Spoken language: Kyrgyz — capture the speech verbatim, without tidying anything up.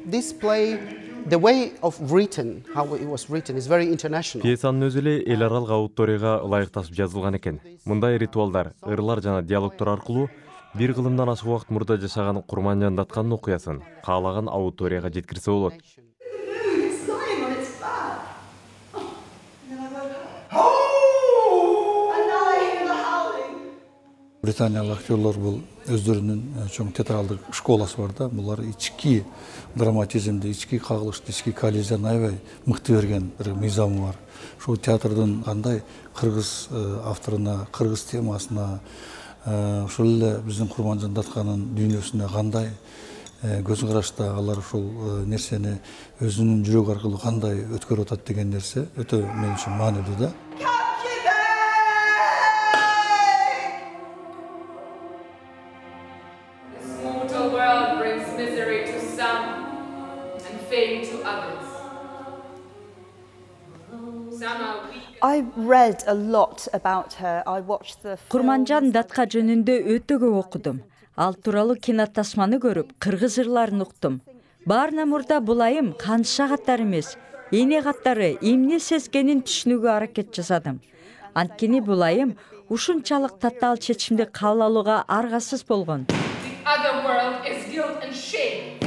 this play, the way of written, how it was written, is very international. Пьесанын өзү эле эл аралык аудиторияга ылайыкташып жазылган экен. Мындай ритуалдар, ырлар жана диалогтор аркылуу бир кылымдан ашык убакыт мурда жашаган Курманжан Датканын окуясын каалаган аудиторияга жеткирсе болот. Британиялык актерлор бул өздөрүнүн чоң театралдык школасы бар да. Булар ички драматизмди, ички кагылышты, ички коллизияны аябай мыкты берген бир мыйзамы бар. Ушул театрдын кандай кыргыз авторуна, кыргыз темасына, ошол эле биздин Курманжан Датканын дүйнөсүнө кандай көз карашта алар ушул нерсени өзүнүн жүрөгү аркылуу кандай өткөрүп атат деген нерсе өтө мен үчүн маанилүү да. I read a lot about her. I watched the Курманжан Датка жөнүндө өтө көп окудум. Ал тууралуу кинотасманы көрүп, кыргыз ырларын уктум. Баарынан мурда бул айым канша каттар эмес, эне каттары эмне сезгенин түшүнүүгө аракет жасадым. Анткени бул айым ушунчалык татаал чечимди кабыл алууга аргасыз болгон. The other world is guilt and shame.